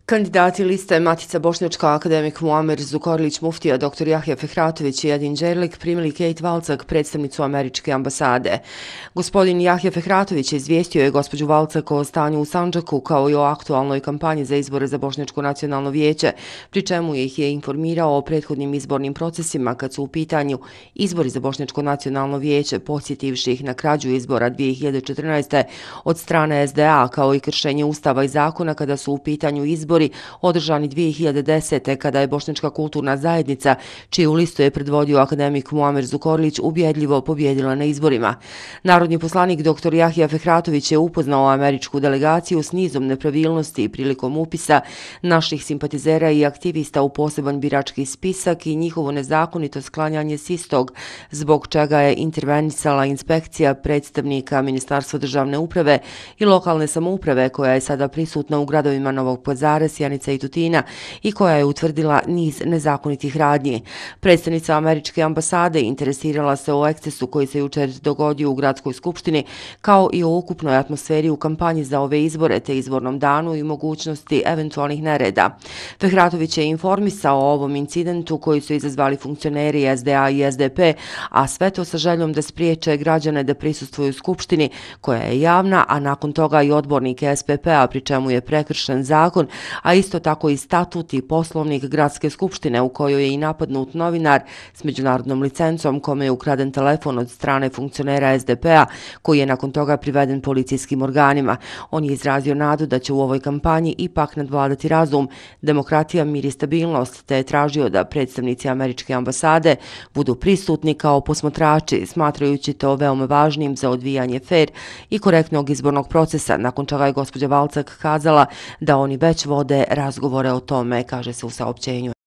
Kandidati liste Matica Bošnjačka, akademik Muamer Zukorlić, muftija dr. Jahja Fehratović i Edin Đerlik primili Kate Valcak, predstavnicu američke ambasade. Gospodin Jahja Fehratović izvijestio je gospođu Valcak o stanju u Sandžaku kao i o aktualnoj kampanji za izbore za Bošnjačko nacionalno vijeće, pri čemu ih je informirao o prethodnim izbornim procesima kad su u pitanju izbori za Bošnjačko nacionalno vijeće, podsjetivši ih na krađu izbora 2014. od strane SDA, kao i kršenje ustava i zakona kada su u pitanju izbori održani 2010. kada je Bošnjačka kulturna zajednica, čiju listu je predvodio akademik Muamer Zukorlić, ubjedljivo pobjedila na izborima. Narodni poslanik dr. Jahja Fehratović je upoznao američku delegaciju s nizom nepravilnosti prilikom upisa naših simpatizera i aktivista u poseban birački spisak i njihovo nezakonito sklanjanje s istog, zbog čega je intervenisala inspekcija predstavnika Ministarstva državne uprave i lokalne samouprave koja je sada prisutna u gradovima Novog Pazara, Sjenica i Tutina i koja je utvrdila niz nezakonitih radnji. Predstavnica američke ambasade interesirala se o ekscesu koji se jučer dogodio u gradskoj skupštini, kao i o ukupnoj atmosferi u kampanji za ove izbore te izbornom danu i mogućnosti eventualnih nereda. Fehratović je informisao o ovom incidentu koji su izazvali funkcioneri SDA i SDP, a sve to sa željom da spriječe građane da prisustvuju skupštini koja je javna, a nakon toga i odbornike SPP-a, pri čemu je prekršen zakon, a isto tako i statut i poslovnik gradske skupštine u kojoj je i napadnut novinar s međunarodnom licencom kome je ukraden telefon od strane funkcionera SDP-a koji je nakon toga priveden policijskim organima. On je izrazio nadu da će u ovoj kampanji ipak nadvladati razum, demokratija, mir i stabilnost, te je tražio da predstavnici američke ambasade budu prisutni kao posmatrači, smatrajući to veoma važnim za odvijanje fer i korektnog izbornog procesa, nakon čega je gospođa Valcak kazala da oni već vode razgovore o tome, kaže se u saopćenju.